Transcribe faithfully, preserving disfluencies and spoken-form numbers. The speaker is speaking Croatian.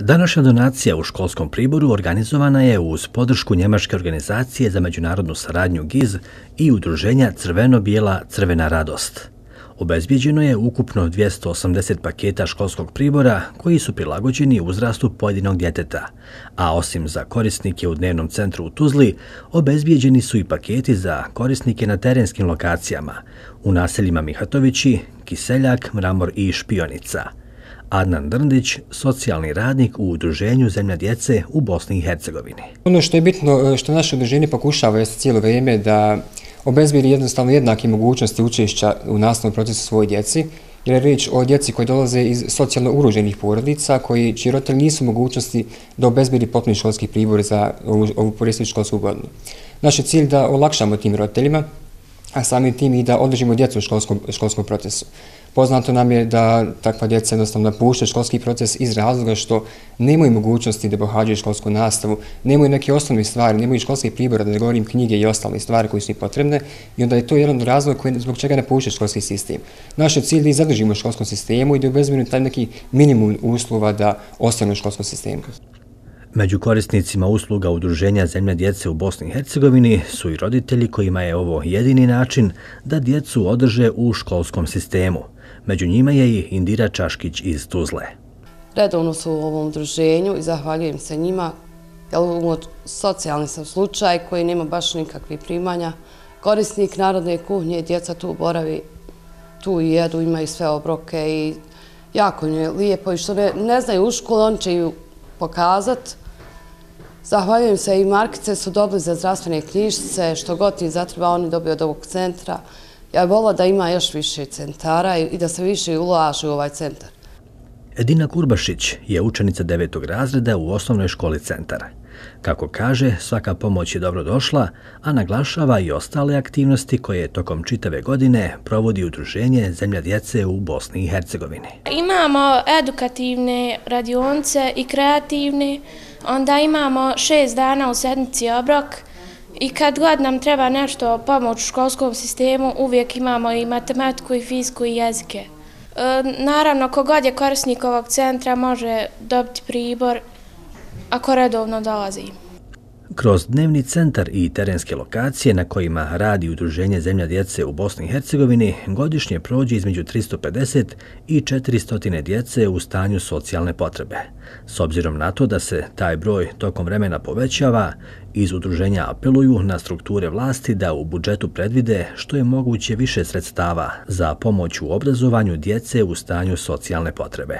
Današnja donacija u školskom priboru organizovana je uz podršku Njemačke organizacije za međunarodnu saradnju G I Z i udruženja Crveno-bijela Crvena radost. Obezbijeđeno je ukupno dvjesto osamdeset paketa školskog pribora koji su prilagođeni uzrastu pojedinog djeteta, a osim za korisnike u dnevnom centru u Tuzli, obezbijeđeni su i paketi za korisnike na terenskim lokacijama, u naseljima Mihatovići, Kiseljak, Mramor i Špionica. Adnan Drndić, socijalni radnik u udruženju Zemlja djece u Bosni i Hercegovini. Ono što je bitno, što naše udruženje pokušava jeste cijelo vrijeme da obezbijedi jednostavno jednake mogućnosti učešća u nastavnom procesu svojoj djeci, jer je riječ o djeci koji dolaze iz socijalno ugroženih porodica, koji čiji roditelji nisu mogućnosti da obezbijedi potpuni školski pribor za ovu predstojeću školsku godinu. Naš je cilj da olakšamo tim roditeljima, a samim tim i da održimo djecu u školskom, školskom procesu. Poznato nam je da takva djeca jednostavno napuštaju školski proces iz razloga što nemaju mogućnosti da pohađaju školsku nastavu, nemaju neke osnovne stvari, nemaju školskih pribora, da ne govorim knjige i ostale stvari koje su im potrebne, i onda je to jedan razlog koji, zbog čega napuštaju školski sistem. Naš je cilj da ih zadržimo u školskom sistemu i da obezbedimo taj neki minimum uslova da ostanu u školskom sistemu. Među korisnicima usluga udruženja Zemlja djece u Bosni i Hercegovini su i roditelji kojima je ovo jedini način da djecu održe u školskom sistemu. Među njima je i Indira Čaškić iz Tuzle. Redovno su u ovom udruženju i zahvaljujem se njima, jer socijalni sam slučaj koji nema baš nikakvih primanja. Korisnik narodne kuhnje, djeca tu boravi, tu i jedu, imaju sve obroke i jako im je lijepo i što ne, ne znaju u školu, oni će ju pokazati. Zahvaljujem se i markice su dobili za zdravstvene knjižice, što god im zatreba oni dobiju od ovog centra. Ja bih volila da ima još više centara i da se više ulaže u ovaj centar. Edina Kurbašić je učenica devetog razreda u osnovnoj školi centara. Kako kaže, svaka pomoć je dobro došla, a naglašava i ostale aktivnosti koje tokom čitave godine provodi udruženje Zemlja djece u Bosni i Hercegovini. Imamo edukativne radionice i kreativne, onda imamo šest dana u sedmici obrok i kad god nam treba nešto pomoć u školskom sistemu, uvijek imamo i matematiku i fiziku i jezike. E, naravno, kogod je korisnik ovog centra može dobiti pribor ako redovno dolazi. Kroz dnevni centar i terenske lokacije na kojima radi udruženje Zemlja djece u Bosni i Hercegovini godišnje prođe između tristo pedeset i četiristo djece u stanju socijalne potrebe. S obzirom na to da se taj broj tokom vremena povećava, iz udruženja apeluju na strukture vlasti da u budžetu predvide što je moguće više sredstava za pomoć u obrazovanju djece u stanju socijalne potrebe.